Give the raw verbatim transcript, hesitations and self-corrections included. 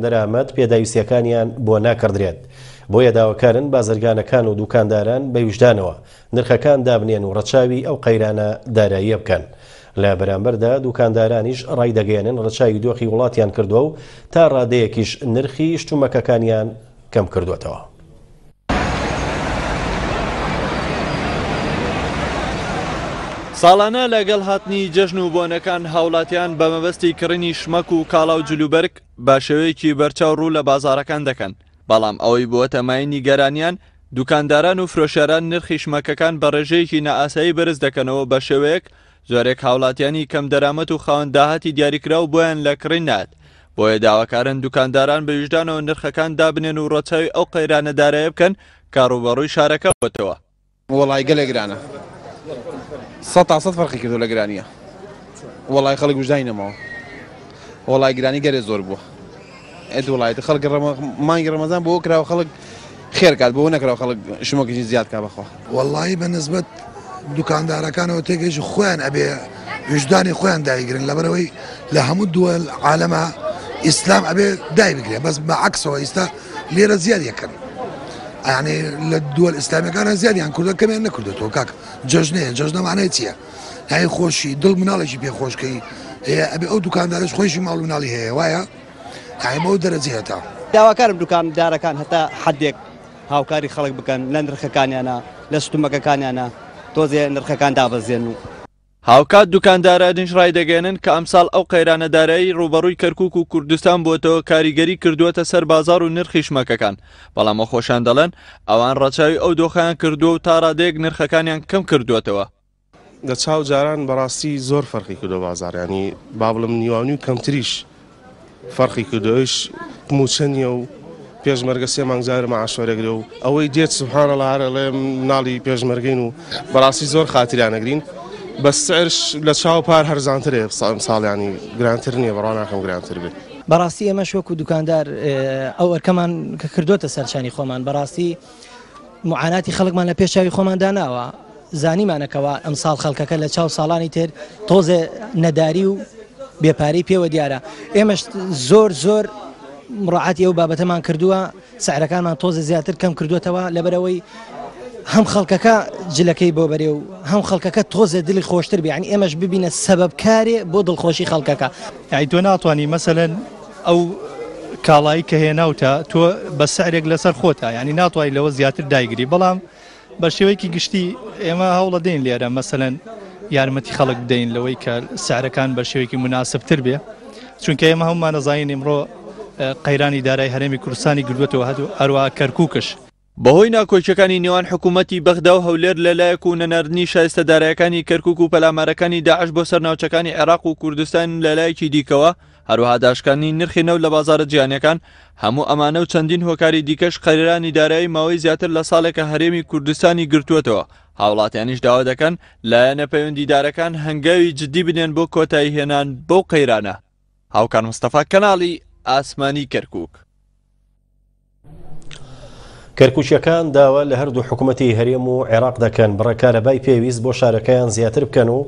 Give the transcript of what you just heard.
دەرامەت پێداویستیەکانیان بۆ ناکڕدرێت. بۆیە داواکارن بازرگانەکان و دوکانداران بە ویژدانەوە نرخەکان دابنێن و ڕەچاوی ئەو قەیرانە داراییە بکەن. لە بەرامبەردا دوکاندارانیش ڕایدەگەیەنن ڕەچاوی دۆخی وڵاتیان کردووە و تا ڕادەیەکیش نرخی شتومەکەکانیان کەم کردووەتەوە. ساڵانە لەگەڵ هاتنی جەژن و بۆنەکان هاوڵاتیان بە مەبەستی کڕینی شمەک و کاڵا و جلوبەرگ بە شێوەیەکی بەرچاو ڕوو لە بازاڕەکان دەکەن، بەڵام ئەوەی بووەتە مایەی نیگەرانیان دوکانداران و فرۆشیاران نرخی شمەکەکان بە ڕێژەیەکی نائاسایی بەرز دەکەنەوە، بە شێوەیەک زۆرێک هاوڵاتیانی کەم دەرامەت و خاوەن داهاتی دیاریکراو بۆیان لە کڕین نات. بۆیە داواکارن دوکانداران بە ویژدانەوە نرخەکان دابنێن و ڕەچاوی ئەو قەیرانە دارایە بکەن کە ڕووبەڕووی شارەکە بۆتەوە. وەڵای گەلێک گرانە، سەد تا سەد فەرقی کردو لە گرانیە. وەڵای خەڵک وژدانی نەماوە، وەڵای گرانی گەلێ زۆر بووە. ئێ وڵایەتی خەڵک مانگی ڕەمەزان بۆ کراوە خەڵک خێر کات، بۆ نەکراوە خەڵک شمەکێکی زیاد کا بەخوا. وەڵایی بە نسبەت دوکاندارەکانەوە تێگەیشت خۆیان ئەبێ ویژدانی خۆیان دایگرن، لەبەرەوەی لە هەموو دووەل عالەمە ئیسلام ئەبێ دای بگرێ، بەس بە عەکسەوە ئیستا لێرە زیاد یەکەن. یعنی لە دووەل ئیسلامیەکانە زیادیان کوردە کەمیان نەکردێتەوە. کاک جەژنەیە، جەژنە معنای چییە؟ یعنی خۆشی دڵ مناڵێکی پێخۆشکەی هەیە، ئەبێ ئەو دوکاندارش خۆشی ماڵ و مناڵی هەیە، وایە یعنی بەو دەرەجەیە تا. داواکارم دوکاندارەکان هەتا حدێک هاوکاری خەڵک بکەن لە نرخەکانیانە، لە شتومەکەکانیانە، تۆزێ نرخەکان دابەزێن. و هاوکات دوکاندارانیش ڕایدەگەیەنن کە ئەمساڵ ئەو قەیرانە دارایی ڕووبەڕووی کەرکوک و کوردستان بۆتەوە کاریگەری کردووەتە سەر بازاڕ و نرخی شمەکەکان، بەڵام خۆشان دەڵێن ئەوان ڕەچاوی ئەو دۆخیان کردووە و تا ڕادەیەک نرخەکانیان کەم کردووەتەوە. لە چاو جاران بەڕاستی زۆر فەرقی کردو بازاڕ، ینی با بڵێم نیوانی و کەمتریش فەرقی کردوویش موچە نییە و پێشمەرگە سێ مانگ جارە معاش وەرەگرێ و ئەوەی دێت سبحان الله هەر ئەڵێ مناڵی پێشمەرگەین و بەڕاستی زۆر خاتریانەگرین. بە سعرش لە چاو پار هەرزانترێ ساڵیانی گرانتر نییە، بەڕوا ناکەم گرانتر بێت. بەڕاستی ئێمەش وەکو دوکاندار ئەو ئەرکەمان کە کردوتە سەرچانی خۆمان، بەڕاستی معاناتی خەڵکمان لە پێش چاوی خۆمان داناوە، زانیمانەکەوە ئەمساڵ خەڵکەکە لە چاو ساڵانی تر تۆزێ نەداری و بێپارەی پێوە دیارە. ئێمەش زۆر زۆر مڕاعاتی ئەو بابەتەمان کردووە، سعرەکانمان تۆزێ زیاتر کەم کردووەتەوە، لەبەرەوەی هەم خەڵکەکە جلەکەی بۆ بەرێ و هەم خەڵکەکە تۆزێ دڵی خۆشتر بێ، یعنی ئێمەش ببینە سەبەبکارێ بۆ دڵخۆشی خەڵکەکە. یعنی تۆ ناتوانی مەسەلەن ئەو کاڵایی کە هێناوتە تۆ بە سعرێک لەسەر خۆتە، یعنی ناتوانی لەوە زیاتر دایگری، بەڵام بە شێوەیەکی گشتی ئێمە هەوڵە دەین لێرە مەسەلەن یارمەتی خەڵک بدەین لەوەی کە سعرەکان بە شێوەیەکی مناسبتر بێ، چونکە ئێمە هەمومان نەزانین ئیمڕۆ قەیرانی دارای هەرێمی کوردستانی گردووەتەوە، هەروەها کەرکووکش. بەهۆی ناکۆکیەکانی نێوان حکوومەتی بەغدا و هەولێر لەلایەک و نەناردنی شایستە دارایەکانی کەرکوک و پەلامارەکانی داعش بۆ سەر ناوچەکانی عێراق و کوردستان لەلایەکی دیکەوە، هەروەها داشکاندنی نرخی نەوت لە بازارە جیهانیەکان، هەموو ئەمانە و چەندین هۆکاری دیکەش قەیرانی دارایی ماوەی زیاتر لە ساڵێکە هەرێمی کوردستانی گرتووەتەوە. هاوڵاتیانیش داوا دەکەن لایەنە پەیوەندیدارەکان هەنگاوی جدی بنێن بۆ کۆتایی هێنان بەو قەیرانە. هاوکار مستەفا، کەناڵی ئاسمانی کەرکوک. کەرکوچیەکان داوا لە هەردوو حکوومەتی هەرێم و عێراق دەکەن بڕە کارەبای پێویست بۆ شارەکەیان زیاتر بکەن و